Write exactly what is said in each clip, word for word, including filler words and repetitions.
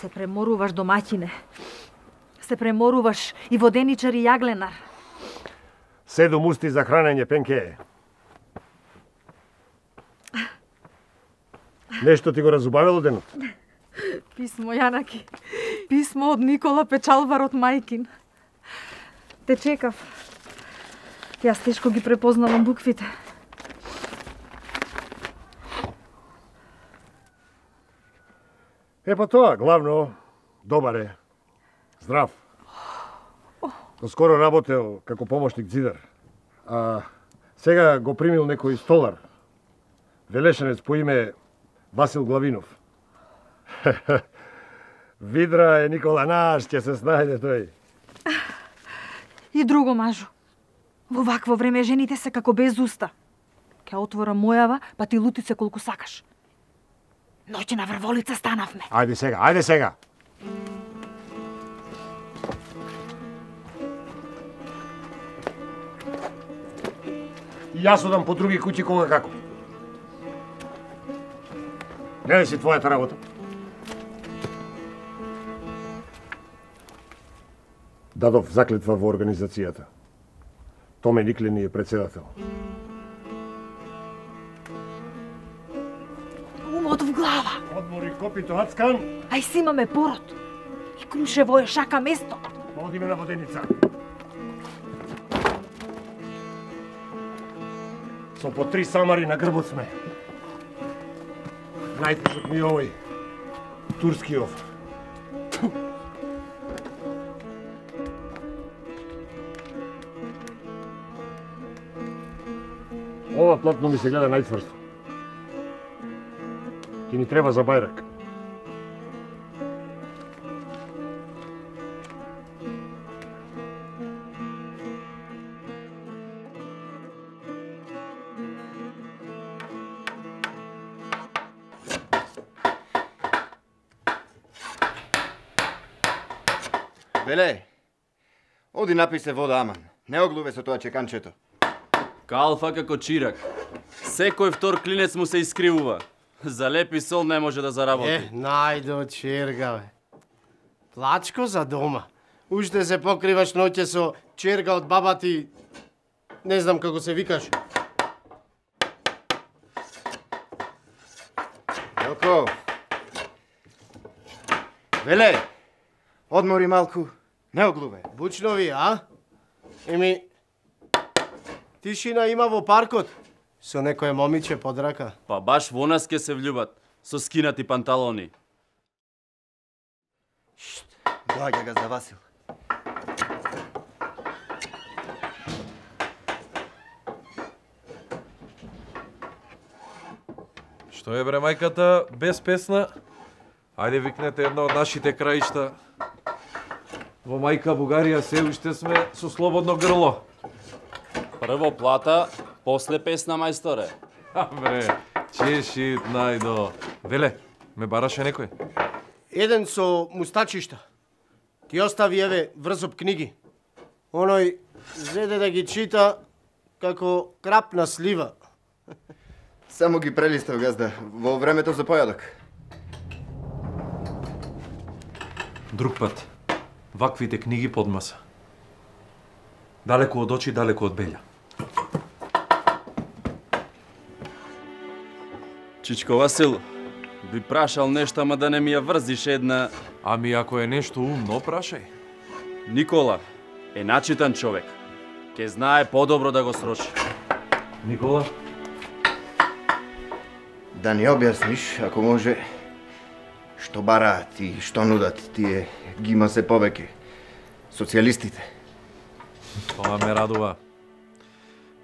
Се преморуваш, домаќине. Се преморуваш и воденичар и јагленар. Седум усти за хранење, Пенке. Нешто ти го разубавило денот? Писмо, Јанаки. Писмо од Никола Печалвар од мајкин. Те чекав. Јас тешко ги препознавам буквите. Е, па тоа, главно, добар е. Здрав. Доскоро работел како помошник зидар. А сега го примил некој столар. Велешенец по име Васил Главинов. Видра е Никола наш, ќе се снајде тој. И друго, мажу. Во вакво време жените се како без уста. Ке отвора мојава, па ти лути се колку сакаш. Ноќна врволица станавме. Ајде сега, ајде сега. И јас одам по други куќи кога како. Не е си твојата работа. Дадов заклетва во организацијата. Томе Никлени е председател. Умот в глава. Одмори копито, Ацкан. Ај си имаме пород. И Крушево е шака место. Одиме на воденица. Со по три самари на грбот сме. Најтежок ми овој. Турскиов. Ова платно ми се гледа најцврсто. Ки ни треба за бајрак. Веле, оди напи се вода, аман. Не оглуве со тоа чеканчето. Калфа како чирак. Секој втор клинец му се искривува. За лепи сол не може да заработи. Е, најдо черга, бе. Плачко за дома. Уште се покриваш ноќе со черга од баба ти. Не знам како се викаш. Елко. Веле, одмори малку. Не оглуве. Бучнови, а? Еми, тишина има во паркот. Со некое момиче под рака. Па баш во нас ке се влюбат. Со скинати панталони. Шт, доаѓа га за Васил. Што е бре мајката, без песна? Ајде викнете една од нашите краишта. Во мајка Бугарија се уште сме со слободно грло. Прво плата, после песна, мајсторе. А бре, чешит најдо. Веле, ме бараше некој? Еден со мустачишта. Ти остави еве врзоп книги. Оној зеде да ги чита како крапна слива. Само ги прелистав, газда, во времето за појадок. Друг пат. Ваквите книги под маса. Далеку од очи, далеку од белја. Чичко Васил, би прашал нешто, ама да не ми ја врзиш една... Ами ако е нешто умно, прашај. Никола е начитан човек. Ке знае подобро да го срочи. Никола? Да ни објасниш, ако може, што бараат и што нудат тие гима се повеќе социјалистите. Тоа ме радува.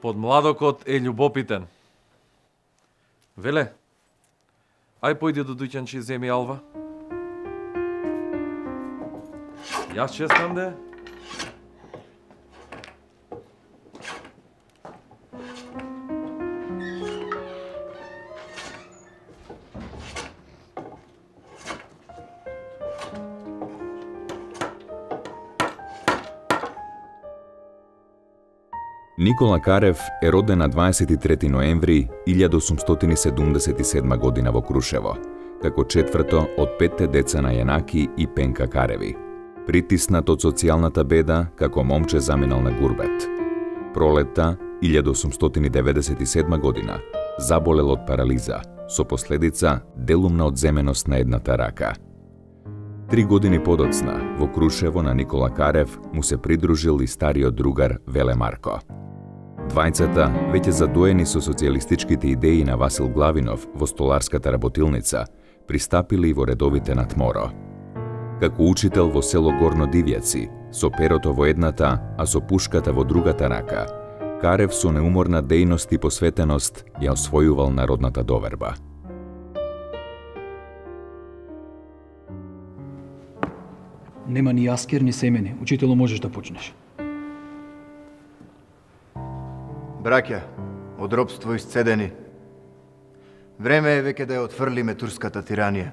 Подмладокот е љубопитен. Веле, ај појди до дуќанчи земи алва. Јас честам де. Никола Карев е роден на дваесет и трети ноември илјадосумстотини седумдесет и седма година во Крушево. како четврто од петте деца на Јанаки и Пенка Кареви. Притиснат од социјалната беда, како момче заминал на гурбет. Пролетта илјада осумстотини деветдесет и седма година заболел од парализа, со последица делумна одземеност на едната рака. Три години подоцна, во Крушево на Никола Карев му се придружил и стариот другар Веле Марко. Двајцата, веќе задоени со социјалистичките идеи на Васил Главинов во столарската работилница, пристапили во редовите на ТМОРО. Како учител во село Горно Дивјаци, со перото во едната, а со пушката во другата рака, Карев со неуморна дејност и посветеност ја освојувал народната доверба. Нема ни јаскер, ни семени. Учитело, можеш да почнеш. Браќа, од робство исцедени. Време е веќе да ја отфрлиме турската тиранија.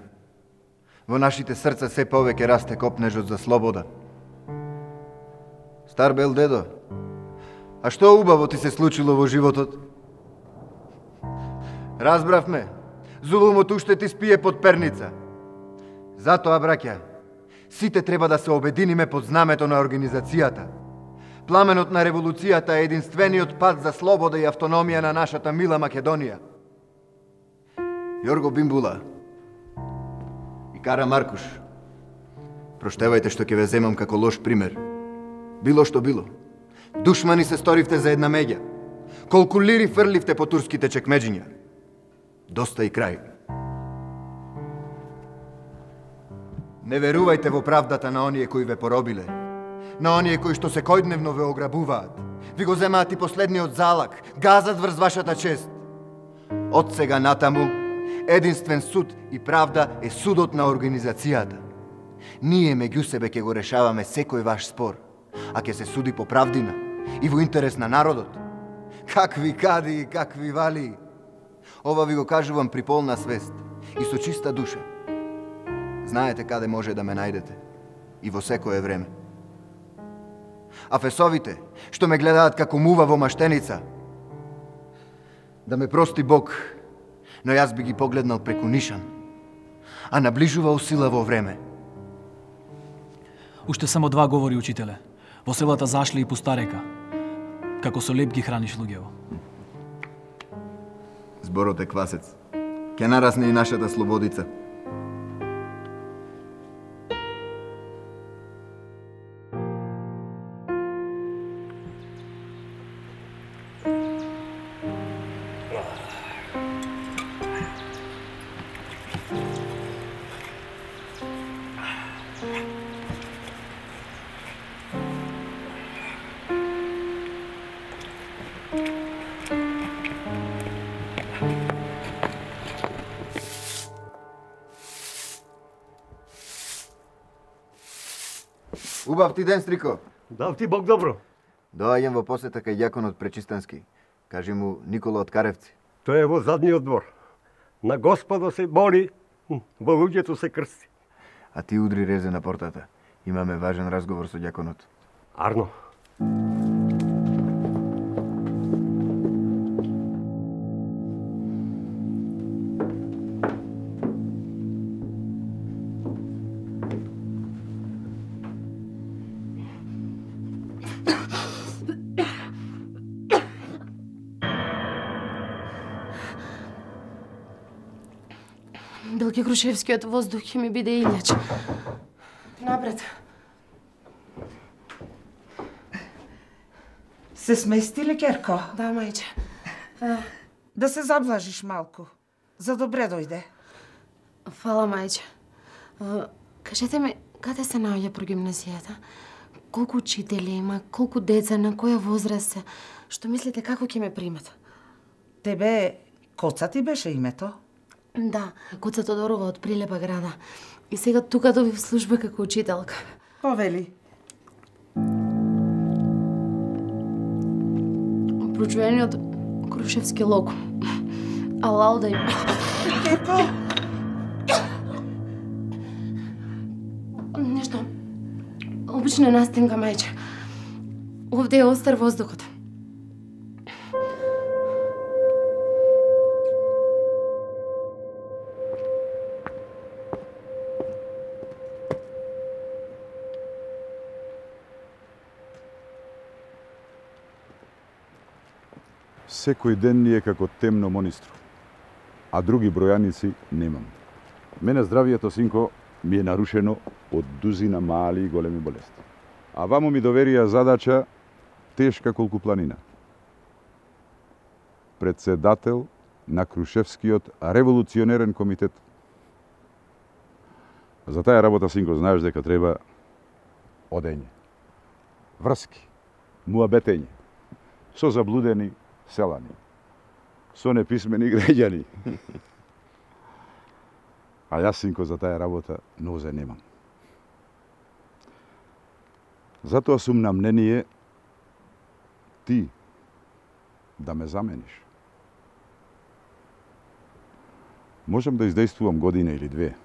Во нашите срца се повеќе расте копнежот за слобода. Стар бел дедо, а што убаво ти се случило во животот? Разбравме, зулумот уште ти спие под перница. Затоа, браќа, сите треба да се обединиме под знамето на организацијата. Пламенот на револуцијата е единствениот пат за слобода и автономија на нашата мила Македонија. Јорго Бимбула и Кара Маркуш, проштевајте што ќе ве земам како лош пример. Било што било. Душмани се сторивте за една меѓа. Колку лири фрливте по турските чекмеџиња. Доста и крај. Не верувајте во правдата на оние кои ве поробиле, на оние кои што секојдневно ве ограбуваат, ви го земаат и последниот залак, газат врз вашата чест. Од сега натаму, единствен суд и правда е судот на организацијата. Ние меѓу себе ќе го решаваме секој ваш спор, а ќе се суди по правдина и во интерес на народот. Какви кади и какви вали. Ова ви го кажувам при полна свест и со чиста душа. Знаете каде може да ме најдете и во секое време. А фесовите, што ме гледаат како мува во маштеница, да ме прости Бог, но јас би ги погледнал преку нишан, а наближува усила во време. Уште само два говори, учителе. Во селата зашли и пустарека. Како со леп ги храниш луѓево. Зборот е квасец. Ке нарасне и нашата слободица. Убав ти ден, Стрико. Дав ти Бог добро. Доаѓам во посета кај ѓаконот Пречистански. Кажи му Никола од Каревци. Тој е во задниот двор. На Господо се бори, во луѓето се крсти. А ти удри резе на портата. Имаме важен разговор со ѓаконот. Арно. Билке Крушевскиот воздух ќе ми биде илјач. Напред. Се смести ли, Керко? Да, мајче. А... Да се заблажиш малку. За добре дојде. Фала, мајче. А, кажете ми, каде се наоѓа прогимназијата? Колку учители има, колку деца, на која возраст се? Што мислите, како ќе ме примат? Тебе Коца ти беше името? Да, Коца Тодорова од Прилепа града. И сега тука доби в служба како учителка. Повели. Прочуениот Крушевски лог. Алал да им... Керко! Нешто... Обична настинка, мајче. Овде е остар воздухот. секој ден ни е како темно монистро, а други бројаници немам. Мене здравието, синко, ми е нарушено од дузина мали и големи болести. А ваму ми доверија задача тешка колку планина. Председател на Крушевскиот револуционерен комитет. За таа работа, синко, знаеш дека треба одење, врски, муабетење, со заблудени селани, со неписмени граѓани. А јас, синко, за таа работа нозе немам. Затоа сум на мнение ти да ме замениш. Можам да издействувам година или две,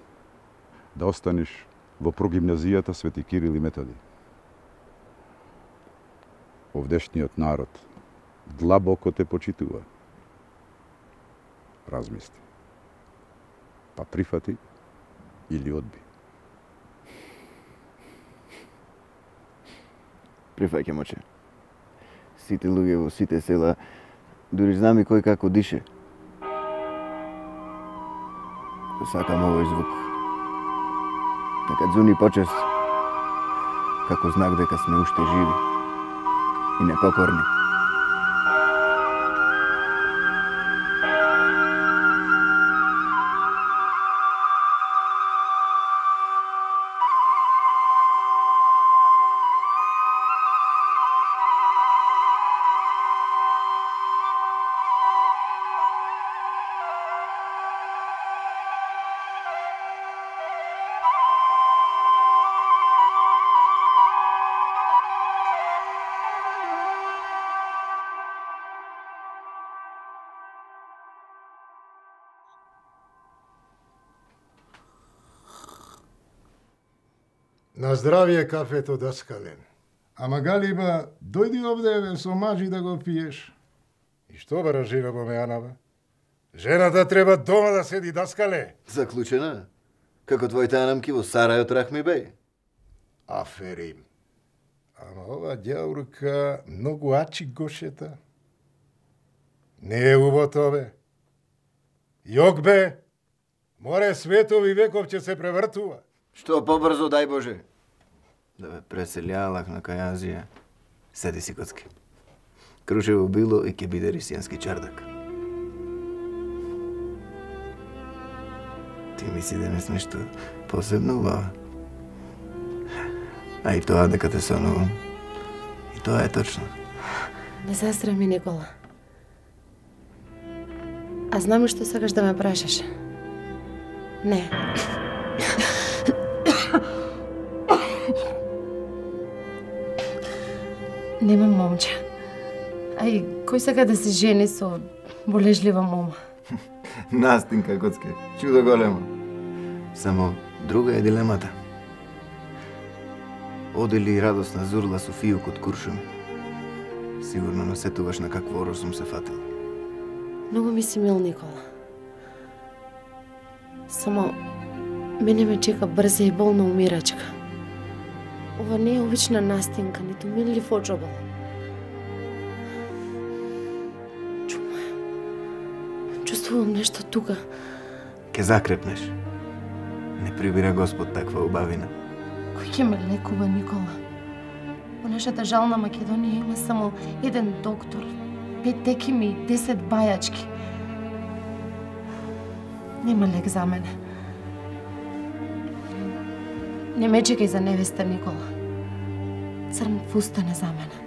да останеш во прогимназијата Свети Кирил и Методи. Овдешниот народ длабоко те почитува. Размисли. Па прифати или одби. Прифаќам, оче. Сите луѓе во сите села, дури знам и кој како дише. Сакам овој звук. Нека дзуни почест, како знак дека сме уште живи и непокорни. На здравие кафето, даскален. Ама Галиба, дојди овде со маџи да го пиеш. И што бара жена во мејанава? Жената треба дома да седи, даскале. Заклучена? Како твоите анамки во Сарајот Рахми беј? Аферим. Ама ова ѓаурка многу ачи гошета. Не е убото, бе. Јок, бе. Море светови веков ќе се превртува. Што побрзо, дај Боже. Да бе преселјалак на кај Азија. Седи си, коцки. Крушево било и ќе биде рисијански чардак. Ти ми си денес нешто посебно убава. А и тоа дека те сонувам. И тоа е точно. Не застрами, Никола. А знам што сакаш да ме прашаш. Не. Немам момче. А и кој сака да се жени со болежлива мома? Настинка, коцке. Чудо големо. Само друга е дилемата. Оде ли радосна зурла со фијук од куршум? Сигурно насетуваш на какво оро сум се фатил. Многу ми си мил, Никола. Само мене ме чека брза и болна умирачка. Ова не е обична настинка, ниту миллив оджобал. Чума е. Чувствувам нешто тука. Ке закрепнеш. Не прибира Господ таква убавина. Кој ќе ме лекува, Никола? Во нашата жална Македонија има само еден доктор, пет текими и десет бајачки. Нема лек за мене. Не ме чекај за невеста, Никола. Црн фустан е за мене.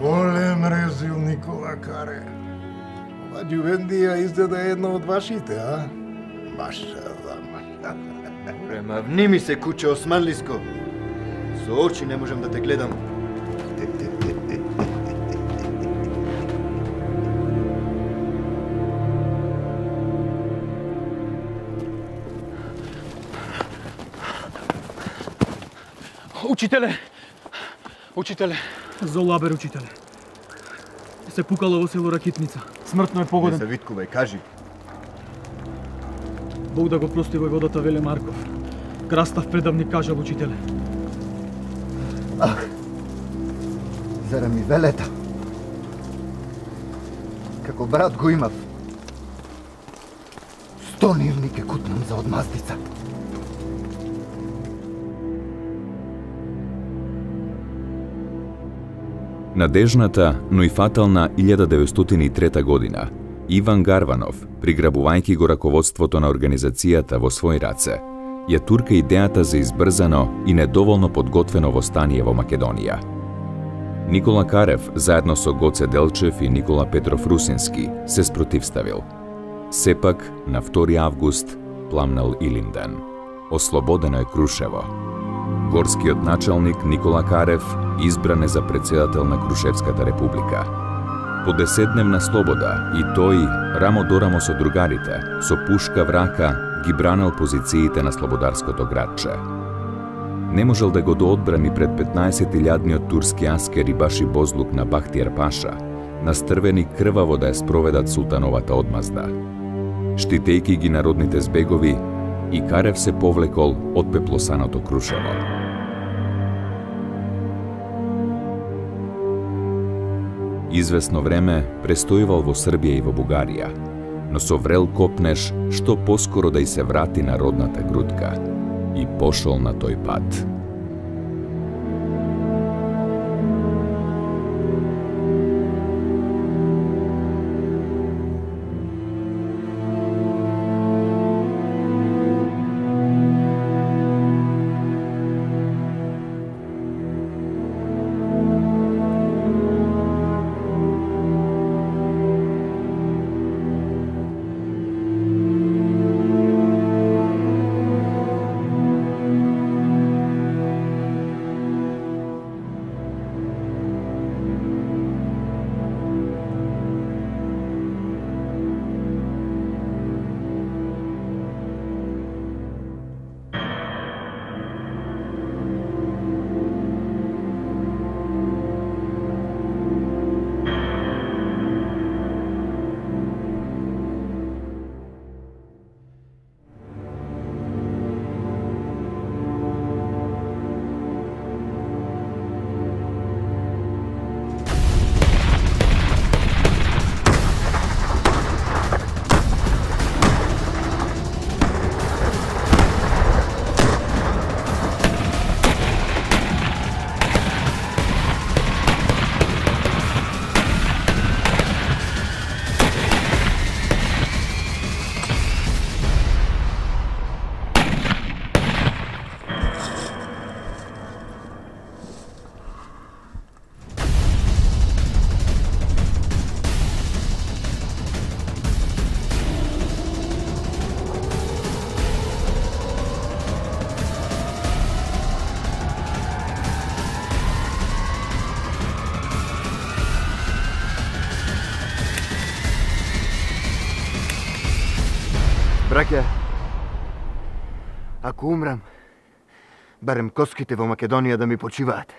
Голем резил, Никола Каре. Ова ѓувендија изгледа една од вашите, а? Машала, машала. Према, вни ми се, куче османлиско. Со очи не можам да те гледам. Учителе! Учителе! Золабер, учителе. Се пукало во село Ракитница. Смртно е погоден. Не се виткувај, кажи. Бог да го прости војводата Веле Марков. Крастав предавник кажал, учителе. Ах, Зарем ми велета? Како брат го имав. Сто нивни ке кутнам за одмаздица. Надежната, но и фатална илјада деветстотини и трета година, Иван Гарванов, приграбувајќи го раководството на организацијата во свој раце, ја турка идејата за избрзано и недоволно подготвено востание во Македонија. Никола Карев, заедно со Гоце Делчев и Никола Петров Русински, се спротивставил. Сепак, на втори август, пламнал Илинден. Ослободено е Крушево. Горскиот началник Никола Карев избран е за председател на Крушевската република. По десетдневна слобода и тој, рамо до рамо со другарите, со пушка в рака, ги бранел позициите на слободарското градче. Не можел да го доодбрани пред петнаесет илјадниот турски аскери Баши Бозлук на Бахтијар Паша, настрвени крваво да ја спроведат султановата одмазда. Штитејки ги народните збегови, и Карев се повлекол од пеплосаното Крушево. Извесно време престојувал во Србија и во Бугарија, но со врел копнеш што поскоро да и се врати на родната грудка и пошол на тој пат. Браќа, ако умрам, барем коските во Македонија да ми почиваат.